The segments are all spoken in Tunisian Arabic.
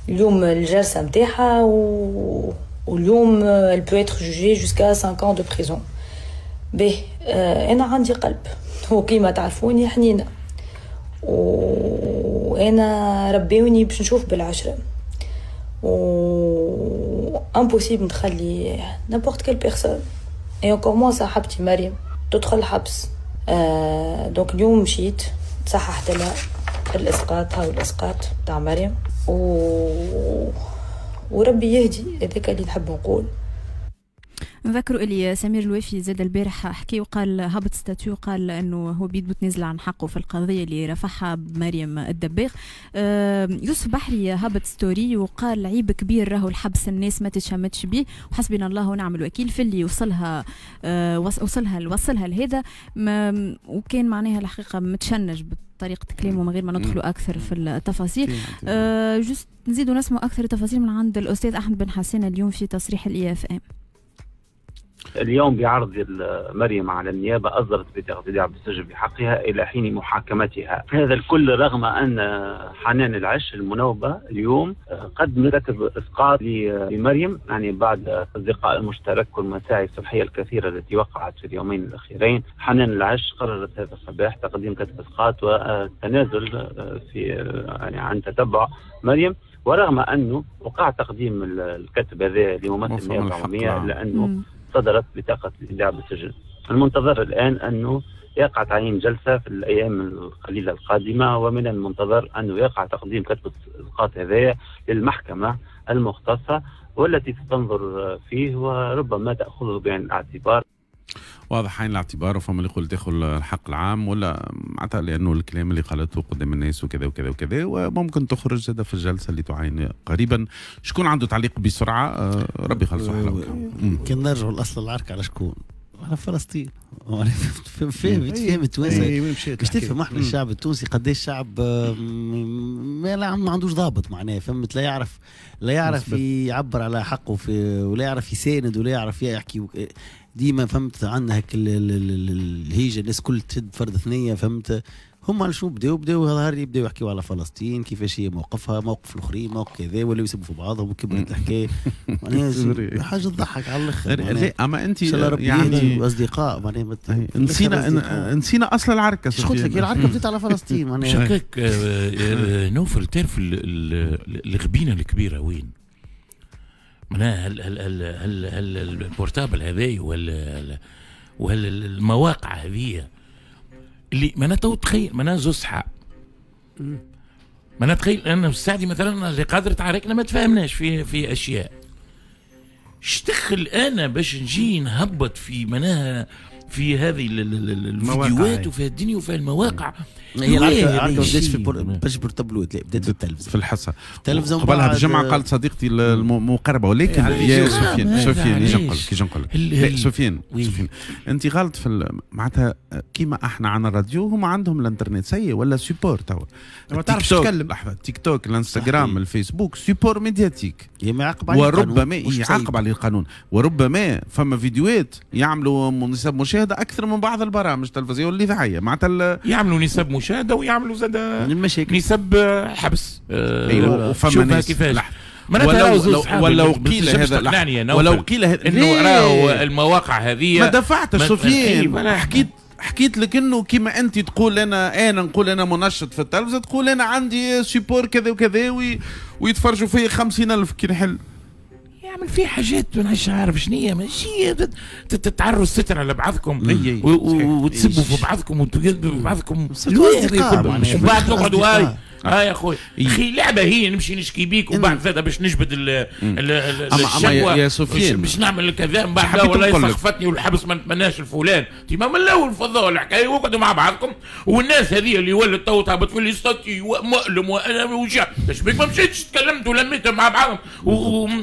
اليوم الجلسة نتاعها واليوم elle peut être jugée jusqu'à 5 ans de prison. به انا عندي قلب وكيما تعرفوني حنينه، وانا ربيوني باش نشوف بالعشرة، و impossible نخلي n'importe quelle personne et encore moins صاحبتي مريم تدخل الحبس. Donc اليوم مشيت صححت لها الاسقاط، هاو الاسقاط تاع مريم، وربي يهدي، هذاك اللي نحب نقول. نذكروا اللي سمير الوافي زاد البارح حكي وقال، هبط statut وقال انه هو بيد متنازل عن حقه في القضية اللي رفعها بمريم الدباغ. يوسف بحري هبط story وقال عيب كبير راهو الحبس، الناس ما تتشمتش به، وحسبنا الله ونعم الوكيل في اللي وصلها وصلها لهذا. وكان معناها الحقيقة متشنج بطريقة كلامه من غير ما ندخلوا اكثر في التفاصيل. juste نزيدوا نسمعوا اكثر التفاصيل من عند الاستاذ احمد بن حسين اليوم في تصريح ال IFM. اليوم بعرض مريم على النيابة أصدرت بطاقة إيداع بالسجن بحقها إلى حين محاكمتها، هذا الكل رغم أن حنان العش المنوبة اليوم قد كتب إسقاط لمريم، يعني بعد الأصدقاء المشترك والمساعي الصحية الكثيرة التي وقعت في اليومين الأخيرين. حنان العش قررت هذا الصباح تقديم كتب إسقاط والتنازل في يعني عن تتبع مريم، ورغم أنه وقع تقديم الكتب هذا لممثل النيابة العمومية إلا أنه صدرت بطاقة الإيداع بالسجن. المنتظر الآن أنه يقع تعيين جلسة في الأيام القليلة القادمة، ومن المنتظر أنه يقع تقديم كتب الإسقاط هذايا للمحكمة المختصة والتي ستنظر فيه وربما تأخذه بعين الاعتبار. واضح عين الاعتبار، وفما اللي يقول تاخذ الحق العام ولا معناتها لانه الكلام اللي قالته قدام الناس وكذا وكذا وكذا، وممكن تخرج زاد في الجلسة اللي تعين قريبا. شكون عنده تعليق بسرعة؟ ربي يخلص وحده. كان نرجعوا لاصل العركه على شكون؟ على فلسطين. فهم التوانسة باش تفهم احنا الشعب التونسي قداش شعب ما عندوش ضابط، معناه فهمت، لا يعرف يعبر على حقه في، ولا يعرف يساند، ولا يعرف يحكي. ديما فهمت عندنا هك الهيجة، الناس كل تشد فرد ثنيه، فهمت. هم شو بداو ظهر يبداو يحكيوا على فلسطين كيفاش هي موقفها، موقف الاخرين، موقف كذا، ولا يسبوا في بعضهم وكبرت الحكاية. معناها حاجة تضحك على الاخر. لا اما انت يعني اصدقاء معناها نسينا اصل العركه. قلت لك العركه بدات على فلسطين معناها. شكاك نوفل، تعرف الغبينه الكبيرة وين؟ معناها هل ال portable هذاي وهل المواقع هذه اللي معناها تو تخيل معناها زوز صحاب، معناها تخيل انا السعدي مثلا اللي قادر تعاركنا ما تفاهمناش في اشياء، اشتخل انا باش نجي نهبط في معناها في هذه الفيديوهات وفي الدنيا وفي المواقع. هي العركه ما بداتش في باش portable ات، لا بدات في التلفزة، في الحصة التلفزة قبلها بجمعه قالت صديقتي المقربة. ولكن يا سفيان كي نقول لك سفيان انت غلط في معناتها كيما احنا عندنا الراديو هما عندهم الانترنت سيء ولا support توا ما تعرفش تتكلم. لحظة، تيك توك، الانستغرام، الفيسبوك support médiatique، يعاقب عليه وربما يعاقب عليه القانون، وربما فما فيديوهات يعملوا نسب مشاهده اكثر من بعض البرامج التلفزيونية والاذاعيه، معناتها يعملوا نسب مشاهده ويعملوا زاد نسب حبس. ايوه وفما ناس كيفاش ولو قيل هذا، ولو قيل هذا انه راهو المواقع هذه ما دفعتش سفيان. حكيت لك انه كيما انت تقول انا نقول انا منشط في التلفزة، تقول انا عندي support كذا وكذا ويتفرجوا فيا 50,000 كي نحل يعمل فيه حاجات مانيش عارف شنو هي، ماشي تتعروا الستر على بعضكم وتسبوا في بعضكم وتكذبوا في بعضكم ومن بعد نقعدوا هاي يا خويا اخي لعبه هي نمشي نشكي بيك وبعد زاد باش نجبد الشكوى يا سفيان باش نعمل كذا من بعد والله سخفتني والحبس ما نتمناش الفلان. ما من الاول فضوا الحكاية وقعدوا مع بعضكم. والناس هذه اللي ولت تو تهبط في les statuts ومؤلم وانا وجع اش بيك ما مشيتش تكلمت ولميت مع بعضهم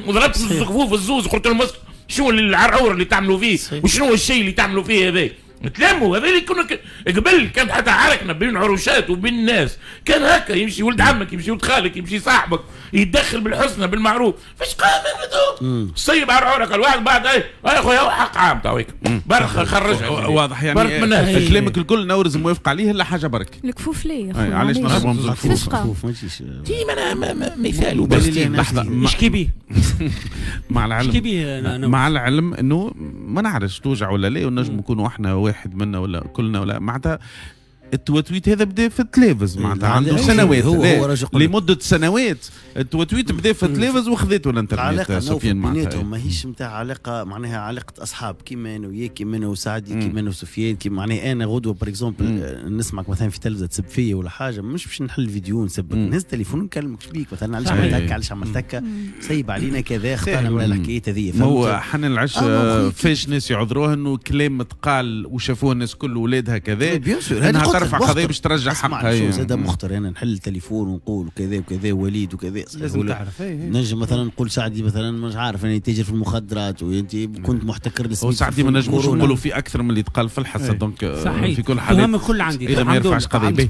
وضربت الزقفوف الزوز قلت لهم شنو العرعور اللي تعملوا فيه وشنو الشيء اللي تعملوا فيه هذا. نتلموا. هذا اللي كنا قبل كانت حتى عركنا بين عروشات وبين الناس، كان هكا يمشي ولد عمك، يمشي ولد خالك، يمشي صاحبك، يتدخل بالحسنى بالمعروف. فاش قام صيب على عورك الواحد بعد اي خويا حق عام تويك برك خرجها. واضح يعني كلامك الكل نورز موافق عليه الا حاجة برك الكفوف ليه يا خويا؟ علاش نضربهم الكفوف؟ ديما انا مثال وبس. لحظة اشكي به مع العلم، مع العلم انه ما نعرفش توجع ولا لا، ونجم نكونوا احنا واحد منا ولا كلنا ولا معناتها التوتويت هذا بدا في التلفز معناتها عنده سنوات، هو لمدة سنوات التوتويت بدا في التلفز وخذته الانترنت. العلاقة سفيان بيناتهم ماهيش نتاع علاقة معناها علاقة اصحاب كيما انا وياك، كيما انا وسعدي، كيما انا وسفيان، كيما معناها انا غدوه par exemple نسمعك مثلا في تلفزه تسب فيا ولا حاجة، مش باش نحل فيديو نسبك، نهز تليفون ونكلمك شبيك مثلا، علاش عملت هكا، علاش عملت هكا، سيب علينا كذا، اختارنا من الحكاية هذه. هو حنان العش فاش ناس يعذروها انه كلام تقال وشافوه الناس كل ولادها كذا، انها ترفع قضية باش ترجع حقها. شو زاد مخطر انا نحل التليفون ونقول كذا وكذا وليد وكذا، لازم تعرف. نجم مثلا نقول سعدي مثلا مش عارف انا تاجر في المخدرات وانت كنت محتكر للسميد. وسعدي ما نجموش نقولوا في اكثر من اللي تقال في الحصة، donc في كل حال الكل عندي اذا ما يرفعش قضية.